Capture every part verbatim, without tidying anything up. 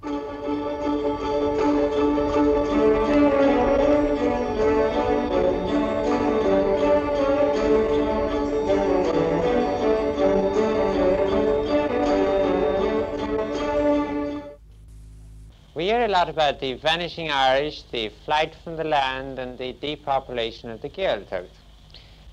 We hear a lot about the vanishing Irish, the flight from the land and the depopulation of the Gaeltacht.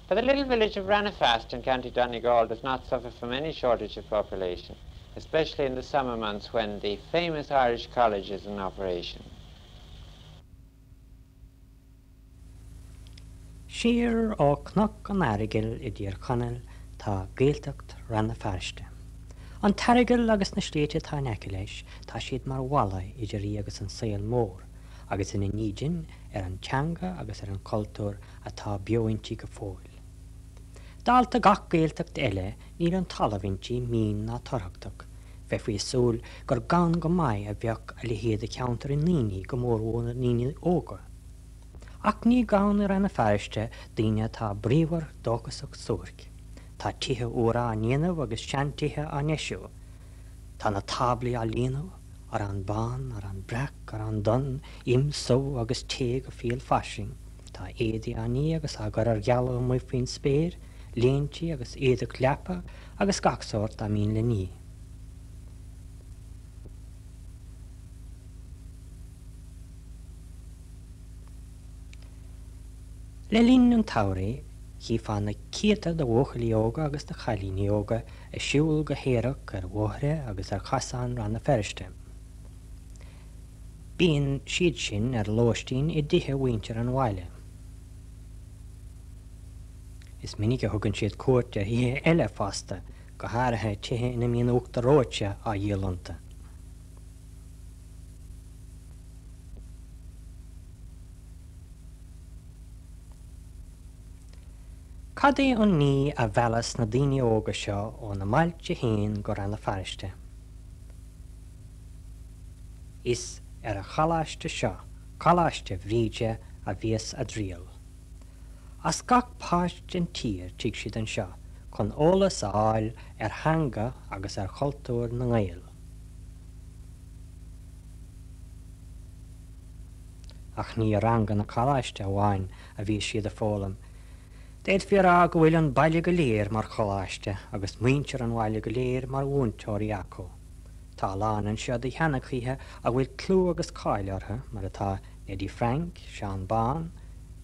But the little village of Ranafast in County Donegal does not suffer from any shortage of population, especially in the summer months when the famous Irish College is in operation. Siar ó Chnoc an Earagail i dTír Chonaill tá Gaeltacht Rann na Feirste. An tEaragal agus na sléibhte atá in aice leis, tá siad mar bhalla idir í agus an saol mór, agus ina ndídean ar an teanga agus ar an chultúr atá beo inti go fóill. Dálta gach Gaeltacht eile níl an talamh inti mín ná turthachtach, bheifí ag súil gur gann go maith a bheadh a leithéid de cheantar i ndaoine go mórmhór na ndaoine óga. Ach ní gann i Rann na Feirste daoine atá bríomhar dóchasach suairc. Tá tithe úra á ndéanamh agus seantithe á ndeisiú. Tá na táblaí á líonadh, arán bán, arán breac, arán donn, im, subh agus tae go fial fairsing. Tá éadaí á ní agus á gcur ar gealladh amuigh faoin spéir, léintí agus éadach leapa agus gach sórt dá mbíonn le ní. Le linn an tsamhraidh, chífeá na céadta de bhuachaillí óga agus de chailíní óga ag siúl go haerach ar bhóithre agus ar chasáin Rann na Feirste. Bíonn siad sin ar lóistín i dtithe mhuintir an bhaile. Is minic a thugann siad cuairt ar thithe eile fosta, go háirithe tithe ina mbíonn uachtar reoite á dhíol iontu. Cad é an ní a mheallas na daoine óga seo óna mbailte féin go Rann na Feirste? Is ar an choláiste seo, Coláiste Bhríde, a bhíos a dtriall. As gach páirt den tír tig siad anseo chun eolas a fháil ar theanga agus ar chultúr na nGael. Ach ní i ranganna coláiste amháin a bhí siad ag foghlaim. D'fhéadfaí a rá go bhfuil an baile go léir mar choláiste agus muintir an bhaile go léir mar mhúinteoirí acu. Tá a lán anseo de sheanchaithe a bhfuil clú agus cáil orthu, mar atá Neddy Frank, Seán Bán,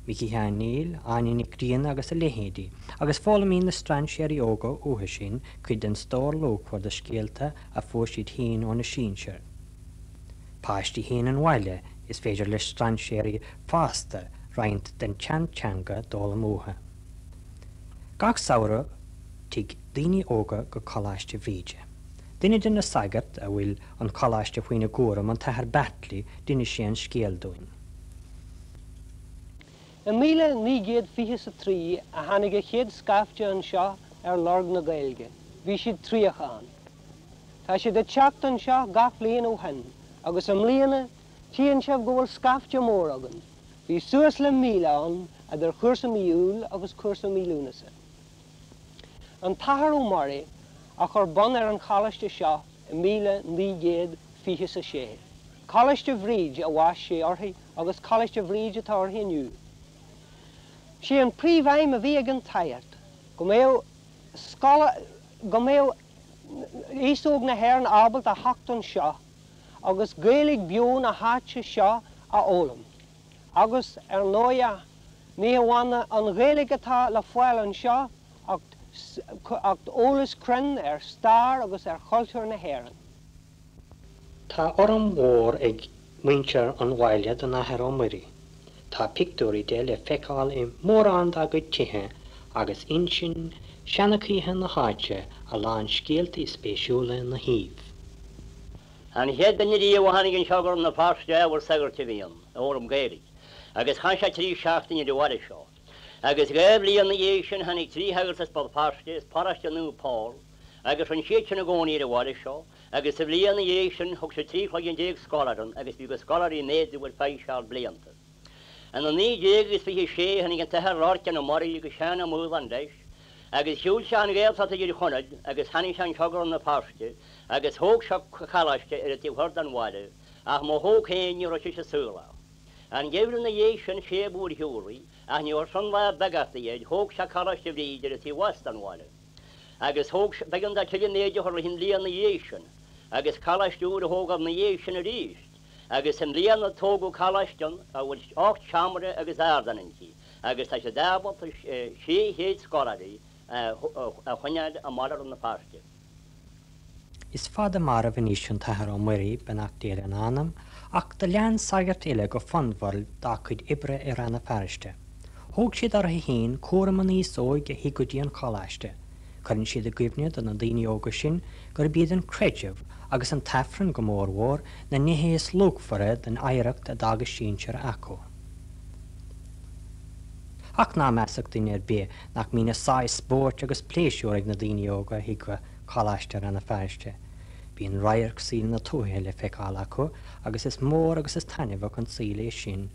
Micí Sheáin Néill, Áine Nic Grianna agus a leithéidí, agus foghlaimíonn na strainséirí óga uathu sin cuid den stór luachmhar de scéalta a fuair siad féin óna sinsir. Páistí féin an bhaile is féidir le strainséirí fásta roinnt den tseanteanga d'fhoghlaim uathu. Gach samhradh tig daoine óga go Coláiste Bhríde. Duine de na sagairt a bhfuil an coláiste faoina gcúram an tAthair Batley d'inis sé an scéal dúinn. I míle naoi gcéad fiche is a trí a tháinig an chéad scaifte anseo ar lorg na Gaeilge. Bhí siad tríocha ann. Tá siad ag teacht anseo gach bliain ó shin, agus i mbliana tchíonn sibh go bhfuil scaifte mór againn. Bhí suas le míle ann idir chúrsa mí Iúil agus cúrsa mí Lúnasa. An tAthair Ó Muirí a chuir bun ar an choláiste seo i míle naoi gcéad fiche is a sé. Coláiste Bhríde a bhaist sé uirthi agus Coláiste Bhríde atá uirthi inniu. Sé an príomhaidhm a bhí ag an tsagart go mbeadh scoil go mbeadh aos óg na hÉireann ábalta a theacht anseo agus Gaeilge beo na háite seo a fhoghlaim. Agus ar ndóigh ní hamháin an Ghaeilge atá le fáil anseo ach ach eolas cruinn ar stair agus ar chultúr na hÉireann. Tá urraim mhór ag muintir an bhaile don Athair Ó Muirí. Tá pictiúirí de le feiceáil i mórán dá gcuid tithe agus insíonn seanchaithe na háite a lán scéaltaí spéisiúla ina thaobh. An chéad duine riamh a tháinig anseo go Rann na Feirste ábhar sagairt a bhí ann, a fhoghlaim Gaeilge, agus chaith sé trí seachtaine ar an bhaile seo. Agus dhá bhliain ina dhiaidh sin tháinig trí shagart as Béal Feirste, as paróiste Naomh Pól, agus d'fhan siad sin i gcónaí ar an bhaile seo, agus sa bhliain ina dhiaidh sin thug siad trí chloigeann déag scoláire ann agus bhí na scoláirí ag méadú ar feadh seal blianta. Ina naoi déag agus fiche sé tháinig an tAthair Lorcán Ó Muirí agus Seán Ó Maoláin leis, Agus shiúil sé an Ghaeltacht i dTír Chonaill agus tháinig sé anseo go Rann na Feirste agus thóg sé coláiste ar an taobh thoir den bhaile, ach má thóg féin ní raibh sé saolach. An geimhreadh ina dhiaidh sin sé a b'úrshiúlaí, ach ní raibh sin lá beag air, thóg sé Coláiste Bhríde ar an taobh theas den bhaile. Agus thóg b'éigean dó tuilleadh méide a chur leis an bhliain ina dhiaidh sin, agus coláiste úr a thógáil ina dhiaidh sin arís, agus i mbliana tógadh coláiste a bhfuil ocht seomra agus ardán inti, agus tá siad ábalta sé chéad scoláirí a choinneáil i mBaile Rann na Feirste. Is fada marbh anois an tAthair Ó Muirí, beannacht Dé lena anam, ach do lean sagairt eile go fonnmhar dá cuid oibre i Rann na Feirste. Thóg siad orthu féin cúram an aos óig a thig go dtí an choláiste. Cuireann siad i gcuimhne do na daoine óga sin gurb iad an creideamh agus an tAifreann go mórmhór na nithe is luachmhaire den oidhreacht a d'fhág a sinsir acu. Ach ná measadh duine ar bith nach mbíonn a sáith spóirt agus pléisiúr ag na daoine óga a thig go Coláiste Rann na Feirste. Bíonn radharc saoil na tuaithe le feiceáil acu agus is mór agus is taitneamhach an saol é sin,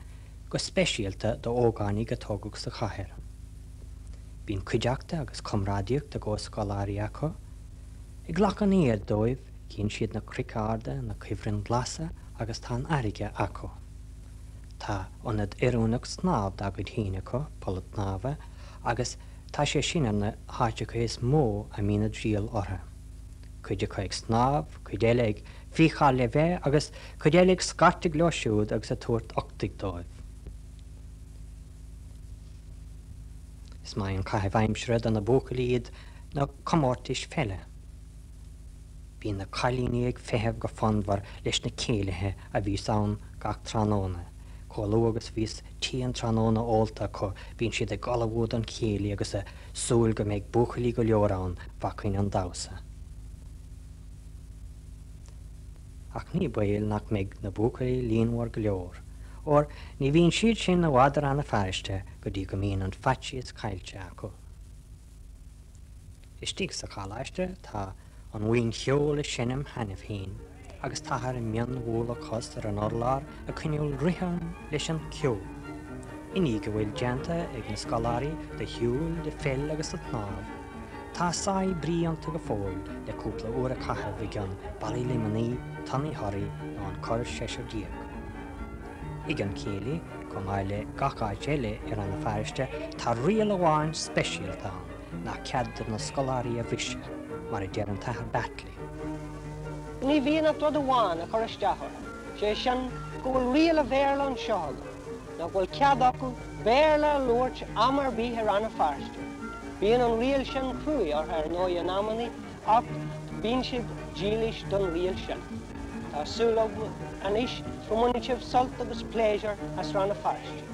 go speisialta d'ógánaigh a tógadh sa chathair. Bíonn cuideachta agus comrádaíocht a gcomhscoláirí acu. Ag glacadh aniar dóibh, cíonn siad na cnoic arda, na cuibhrinn ghlasa agus tá an fharraige acu. Tá ionad oiriúnach snámh dá gcuid féin acu, poll snámha, agus tá sé sin ar na háiteacha is mó a mbíonn a dtriall orthu. Cuid acu ag snámh, cuid eile ag fiacháil le bheith agus cuid eile ag scairtigh leo siúd agus ag tabhairt uchtaigh dóibh. Is maith an caitheamh aimsire do na buachaillí iad na comórtais pheile. Bíonn na cailíní ag feitheamh go fonnmhar leis na céilithe a bhíos ann gach tráthnóna. Chomh luath agus bhíos tae an tráthnóna ólta acu, bíonn siad ag ullmhú don chéilí agus ag súil go mbeidh buachaillí go leor ann fá choinne an damhsa. Ach ní baol nach mbeidh na buachaillí líonmhar go leor, óir ní bhíonn siad sin i bhfad i Rann na Feirste go dtí go mbíonn an faitíos caillte acu. Istigh sa choláiste tá an bhuíon cheoil ag seinm cheana féin, agus táthar i mionbhualadh cos ar an urlár ag coinneáil rithim leis an gceol. I ndiaidh a bhfuil déanta ag na scoláirí de shiúl, de pheil agus de shnámh, tá sáith brí iontu go fóill le cúpla uair a chaitheamh i gcionn ballaí Luimnigh, tonnaí Thoraí nó an Cor Seisear Déag. Ag an chéilí, chomh maith le gach áit eile i Rann na Feirste, tá riail amháin speisialta ann nach cead do na scoláirí a bhriseadh, mar a deir an tAthair Batley. Ní bhíonn ach rud amháin a chur isteach orthu, sé sin go bhfuil riail an Bhéarla anseo acu, nach bhfuil cead acu Béarla a labhairt am ar bith i Rann na Feirste. Bíonn an riail sin cruaidh orthu ar ndóigh in amannaí ach bíonn siad dílis don riail sin. Tá súil agam anois go mbainfidh sibh sult agus pléisiúr as Rann na Feirste.